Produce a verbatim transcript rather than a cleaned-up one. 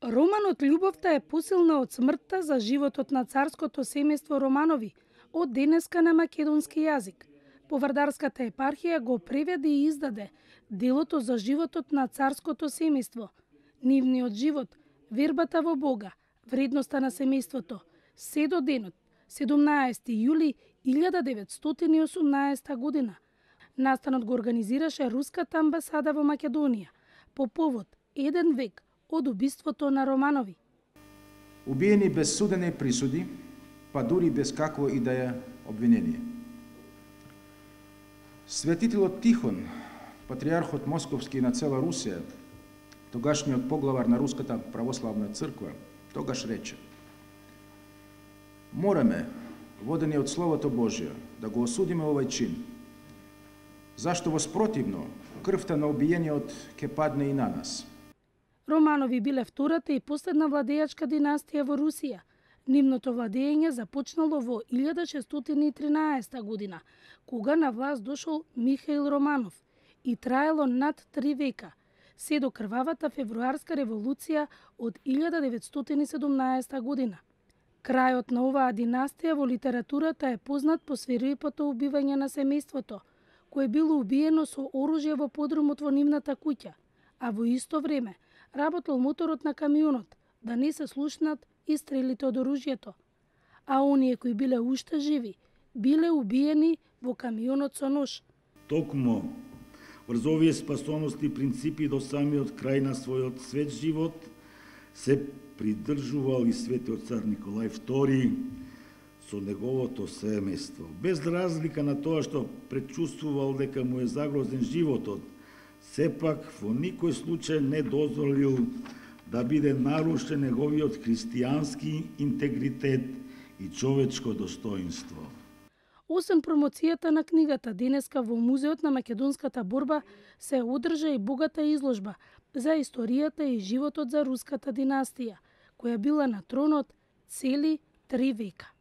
Романот Љубовта е посилна од смртта за животот на царското семејство Романови, од денеска на македонски јазик. Повардарската епархија го преведе и издаде делото за животот на царското семејство, нивниот живот, вербата во Бога, вредноста на семејството, се до денот, седумнаесети јули илјада деветстотини и осумнаесета година. Настанот го организираше Руската амбасада во Македонија, по повод еден век од убиството на Романови. Убиени без судене присуди, па дури без какво и да е обвинение. Светителот Тихон, патриархот Московски на цела Русија, тогашниот поглавар на Руската православна црква, тогаш рече: мораме, водени од Словото Божие, да го осудиме овај чин, зашто воспротивно крвта на убиениот ќе падне и на нас. Романови биле втората и последна владеачка династија во Русија. Нивното владење започнало во илјада шестстотини и тринаесета година, кога на власт дошол Михаил Романов и траело над три века, се до крвавата февруарска револуција од илјада деветстотини и седумнаесета година. Крајот на оваа династија во литературата е познат по свирепото убивање на семејството, кое било убиено со оружје во подрумот во нивната куќа, а во исто време работел моторот на камионот, да не се слушнат и стрелите од оружјето. А оние кои биле уште живи, биле убиени во камионот со нож. Токму врз овие спасоности принципи до самиот крај на својот свет живот се придржувал и светиот цар Николај втори со неговото семејство. Без разлика на тоа што предчувствувал дека му е загрозен животот, сепак во никој случај не дозволил да биде нарушен неговиот христијански интегритет и човечко достоинство. Осем промоцијата на книгата, денеска во Музеот на македонската борба се одржа и богата изложба за историјата и животот за руската династија, која била на тронот цели три века.